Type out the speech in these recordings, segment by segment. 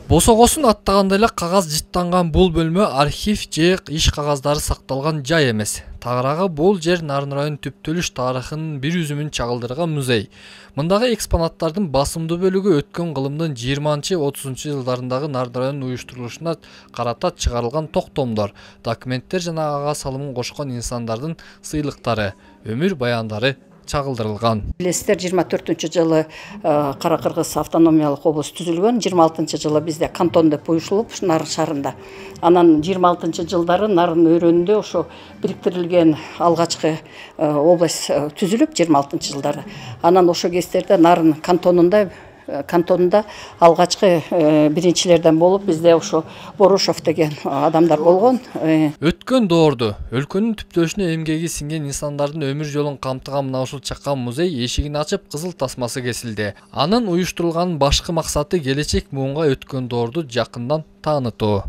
Босогосун аттагандай эле кагаз жыттанган бул бөлмө архив же иш кагаздары сакталган жай эмес. Тагыраагы бул жер Нарын районунун түптөлүш тарыхынын бир үзүмүн чагылдырган музей. Мындагы экспонаттардын басымдуу бөлүгү өткөн кылымдын 20-30 жылдарындагы Нарын районунун уюштурулушуна карата чыгарылган токтомдор, документтер жана ага салымын кошкон инсандардын сыйлыктары, өмүр баяндары чагылдырылган. Билесиздер, 24-жылы Кара Кыргыз автономиялык облус түзүлгөн, 26-жылы бизде кантон деп уюшулуп, Нарын шаарында. Анан 26-жылдары Нарын өрөөнүндө ошо бириктирилген алгачкы область түзүлүп 26-жылдары. Анан ошо кездерде Нарын кантонунда алгачкы биринчилерден болуп, бизде ошо Борошов деген адамдар болгон. Өткөн доорду өлкөнүн түптөлүшүнө эмгеги сиңген инсандардын өмүр жолун камтыган мына ушул чакан музей эшигин ачып, кызыл тасмасы кесилди. Анын уюштурулганын башкы максаты келечек муунга өткөн доорду жакындан таанытуу.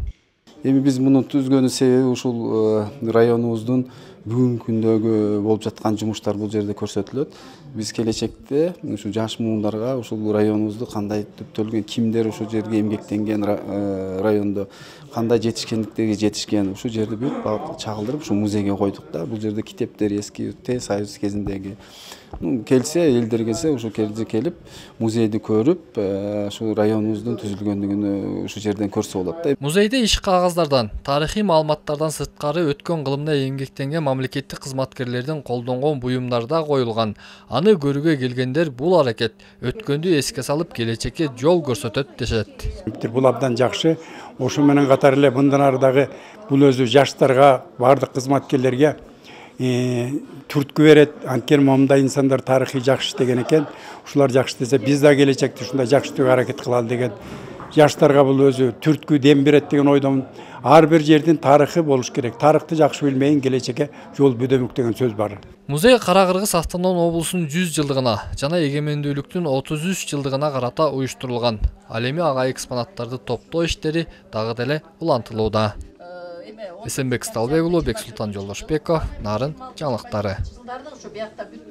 Эми биз муну түзгөнүн себеби ушул районубуздун бүгүнкү күндөгү болуп жаткан жумуштар бул жерде көрсөтүлөт. Биз келечекте ушу жаш муундарга ушул районубузду кандай түптөлгөн, кимдер ушул жерге эмгектенген, райондо кандай жетишкендиктерге жетишкен, ушул жерди бүт чагылдырып ушу музейге койдук да. Бул жерде китептер эски Союз кезиндеги келсе, элдер келсе, ушу жерге келип, музейди көрүп, ушу районубуздун түзүлгөндүгүнү ушу жерден көрсө болот да. Музейде иш кагаздардан, тарыхый маалыматтардан сырткары өткөн кылымда эмгектенген мамлекеттик кызматкерлердин колдонгон буюмдары да коюлган. Аны көрүүгө келгендер бул аракет өткөндү эске салып, келечекке жол көрсөтөт дешет. Бул абдан жакшы. Ошо менен катар эле мындан ары дагы бул өзү жаштарга, бардык кызматкерлерге түрткү берет. Анткени момундай инсандар тарыхый жакшы иштеген экен. Ушулар жакшы десе, биз да келечекте ушундай жакшы иштөөгө аракет кылалы деген. Жаштарга бул өзү түрткү дем берет деген ойдомун. Ар бир жердин тарыхы болуш керек. Тарыхты жакшы билмеген келечекке жол бөдөмүк деген сөз бар. Музей Кара Кыргыз автоном облусунун 100 жылдыгына жана эгемендүүлүктүн 33 жылдыгына карата уюштурулган. Ал эми ага экспонаттарды топтоо иштери дагы деле улантылууда. Эсенбек Сталбек уулу, Бексултан Жолдошбеков, Нарын жаңылыктары.